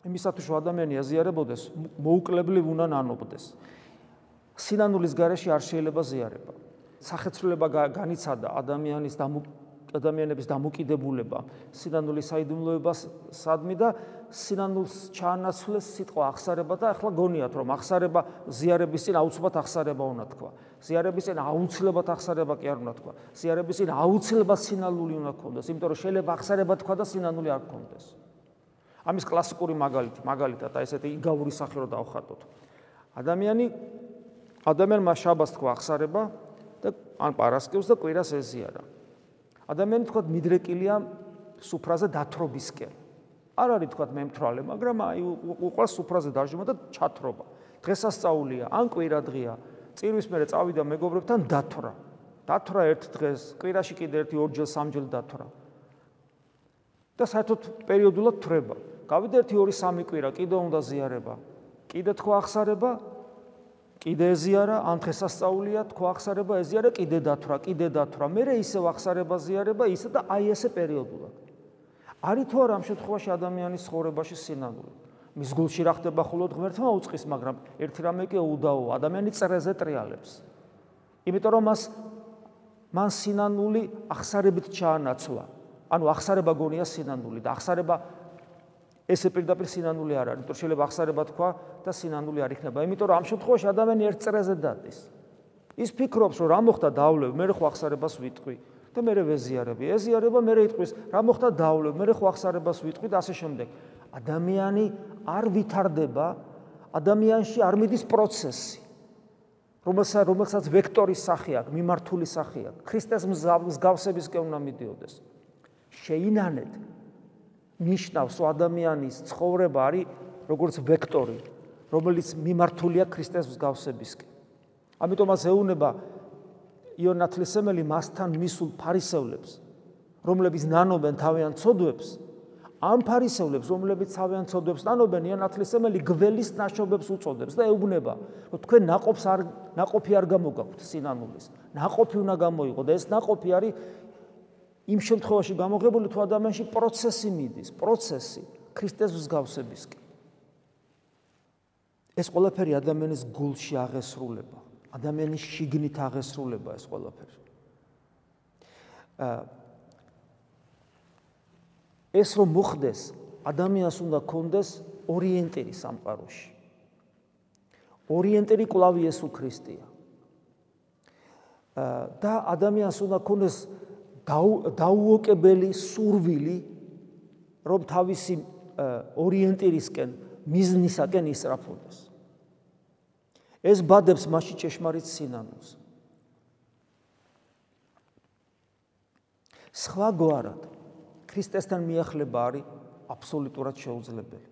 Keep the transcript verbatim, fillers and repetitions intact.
იმისათვის რომ ადამიანი აზიარებოდეს, მოუკლებლივ უნდა ნანობდეს. სინანულის გარეშე არ შეიძლება ზიარება. სახეცვლილება განიცადა ადამიანის ადამიანების დამოკიდებულება სინანულის საიდუმლოებასადმი და სინანულს ჩაანაცვლეს სიტყვა ახსარება და ახლა გონიათ რომ ახსარება ზიარების წინ აუცილებლად ახსარება უნდა თქვა. ზიარების წინ აუცილებლად ახსარება კი არ უნდა თქვა. ზიარების წინ აუცილებლად სინანული უნდა ქონდეს, იმიტომ რომ შეიძლება ახსარება თქვა და სინანული არ ქონდეს. ამის კლასიკური მაგალითი, მაგალითად აი ესეთი იგავური სახე რო დავხატოთ. ადამიანი ადამიანმა შაბათს თქვა ახსარება და ან პარასკევს და კვირას ეზიარა. ადამიანი თქვა მიდრეკილია სუფრაზე დათრობისკენ. არ არის თქვა მემთრალე, მაგრამ აი უყურს სუფრაზე დაჟიმა და ჩათრობა. დღესასწაულია, ან კვირა დღეა. წირვის მერე წავიდა მეგობრებთან დათვრა. დათვრა ერთ დღეს, კვირაში კიდე ერთი ორჯერ სამჯერ დათვრა. და საერთოდ პერიოდულად თვრება. გავიდა ერთი ორი სამი კვირა, კიდე უნდა ზიარება. კიდე თქვა ახსარება, კიდე ეზიარა, ან დღესასწაულია, თქვა ახსარება, ეზიარა, კიდე დათვრა, კიდე დათვრა. მერე ისევ ახსარება, ზიარება, ისე და აი ესე პერიოდულად. არის თუ არა ამ შემთხვევაში ადამიანის ცხოვრებაში სინანული? მის გულში რა ხდება მხოლოდ ღმერთმა უწყის, მაგრამ ერთი რამე კი უდაო, ადამიანი წრეზე ტრიალებს. იმიტომ რომ მას მან სინანული ახსარებით ჩაანაცვლა. ანუ ახსარება გონია სინანული და ახსარება ესე პირდაპირ სინანული არ არის, იმიტომ რომ შეიძლება ახსარება თქვა და სინანული არ იქნება. იმიტომ რომ ამ შემთხვევაში ადამიანი ერთ წრეზე დადის. ის ფიქრობს, რომ რა მოხდა დავვლევ, მე ხო ახსარებას ვიტყვი და მე ვეზიარები. ეზიარება მე იტყვის, რა მოხდა დავვლევ, მე ხო ახსარებას ვიტყვი და ასე შემდეგ. ადამიანი არ ვითარდება, ადამიანში არ მიდის პროცესი, რომელსაც რომელსაც ვექტორის სახე აქვს, მიმართული სახე აქვს. ქრისტეს მსგავსებისკენ უნდა მიდიოდეს. შეინანეთ ნიშნავს ადამიანის ცხოვრება არის როგორც ვექტორი, რომელიც მიმართულია ქრისტეს მსგავსებისკენ. ამიტომაც ეუნება იონ ნათლისმცემელი მასთან მისულ ფარისევლებს, რომლებიც ნანობენ თავიანთ ცოდვებს, ამ ფარისევლებს, რომლებიც თავიანთ ცოდვებს ნანობენ, იონ ნათლისმცემელი გველის ნაშობებს უწოდებს და ეუბნება, რომ თქვენ ნაყოფს არ ნაყოფი არ გამოგაქვთ სინანულის. ნაყოფი უნდა გამოიღო და ეს ნაყოფი არის იმ შემთხვევაში გამოღებული თუ ადამიანში პროცესი მიდის, პროცესი ქრისტეს მსგავსებისკენ. ეს ყველაფერი ადამიანის გულში აღესრულება, ადამიანის შიგნით აღესრულება ეს ყველაფერი. ეს რომ მოხდეს, ადამიანს უნდა ქონდეს ორიენტირი სამყაროში. ორიენტირი კვლავ იესო ქრისტეა. და ადამიანს უნდა ქონდეს დაუოკებელი სურვილი, რომ თავისი ორიენტირისკენ, მიზნისაკენ ისწრაფოდეს. ეს ბადებს მასში ჭეშმარიტ სინანულს. სხვაგვარად ქრისტესთან მიახლება არის აბსოლუტურად შეუძლებელი.